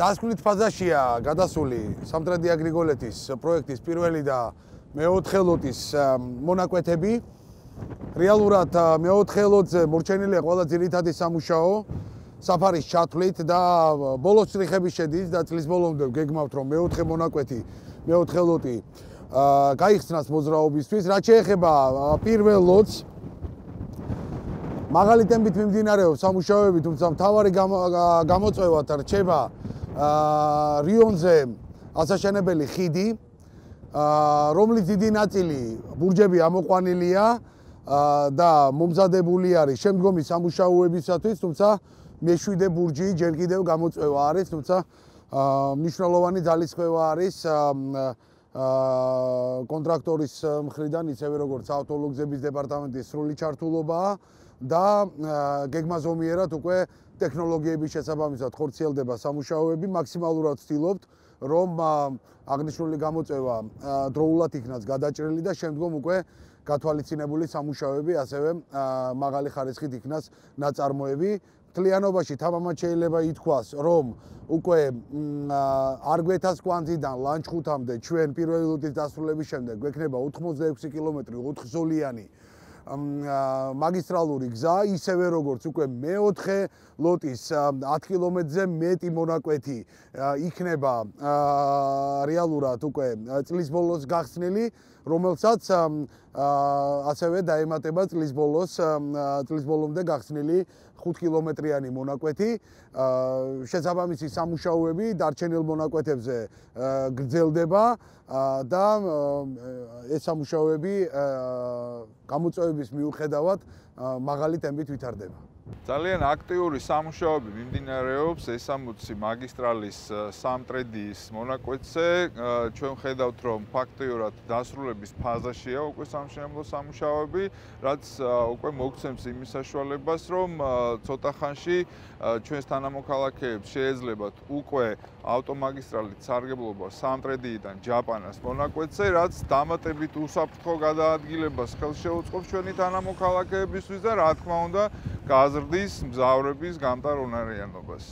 დასკვნით ფაზაშია გადასული სამტრედი აგრიგოლეთის პროექტის პირველი და მეოთხე ლოტის მონაკვეთები. რეალურად მეოთხე ლოტზე მორჩენილია ყველა ძირითადი სამუშაო საფარის ჩათვლით და ბოლოს წრიხები შედის და წლის ბოლომდე გეგმავთ რომ მეოთხე მონაკვეთი, მეოთხე ლოტი გაიხსნას მოძრაობისთვის. რაც შეეხება პირველ ლოტს, მაღალი ტემპით მიმდინარეობს სამუშაოები, თუმცა მთავარი გამოწვევად რჩება რიონზე ასაშენებელი ხიდი, რომლის დიდი ნაწილი ბურჯები ამოყვანილია და მომზადებული არის შემდგომი სამუშაოებისათვის, თუმცა მეშვიდე ბურჯი ჯერ კიდევ გამოწვევა არის, თუმცა მნიშვნელოვანი ძალისხმევა არის კონტრაქტორის მხრიდან, ისევე როგორც ავტოლოგზების დეპარტამენტის სრული ჩართულობაა და გეგმაზომიერად უკვე ტექნოლოგიების შესაბამისად ხორციელდება სამუშაოები. მაქსიმალურად ვცდილობთ, რომ აღნიშნული გამოწვევა დროულად იქნას გადაჭრილი და შემდგომ უკვე გათვალისწინებული სამუშაოები, ასევე მაღალი ხარისხით იქნას ნაწარმოები. მთლიანობაში თამამად შეიძლება ითქვას, რომ უკვე არგვეთას კვანძიდან ლანჩხუთამდე ჩვენ პირველი ლოტის დასრულების შემდეგ გვექნება 86 კილომეტრი 4-ზოლიანი მაგისტრალური გზა, ისევე როგორც უკვე მეოთხე ლოტის 10 კილომეტრზე მეტი მონაკვეთი იქნება რეალურად უკვე წლის ბოლოს გახსნილი, რომელსაც ასევე დაემატება წლის ბოლომდე გახსნილი 5 კილომეტრიანი მონაკვეთი. შესაბამისი სამუშაოები დარჩენილ მონაკვეთებზე გრძელდება და ეს სამუშაოები გამოწვევების მიუხედავად მაღალი ტემპით ვითარდება. ძალიან აქტიური სამუშაოები მიმდინარეობს S60 მაგისტრალის სამტრედიის მონაკვეთზე. ჩვენ ხედავთ, რომ ფაქტიურად დასრულების ფაზაშია უკვე სამშენებლო სამუშაოები, რაც უკვე მოგცემს იმის საშუალებას, რომ ცოტა ხანში ჩვენს თანამოქალაქეებს შეეძლებათ უკვე ავტომაგისტრალით სარგებლობა სამტრედიიდან ჯაპანას მონაკვეთზე, რაც დამატებით უსაფრთხო გადაადგილებას ხელს შეუწყობს ჩვენი თანამოქალაქეებისთვის და რა თქმა უნდა გაზრდის მგზავრების გამტარუნარიანობას.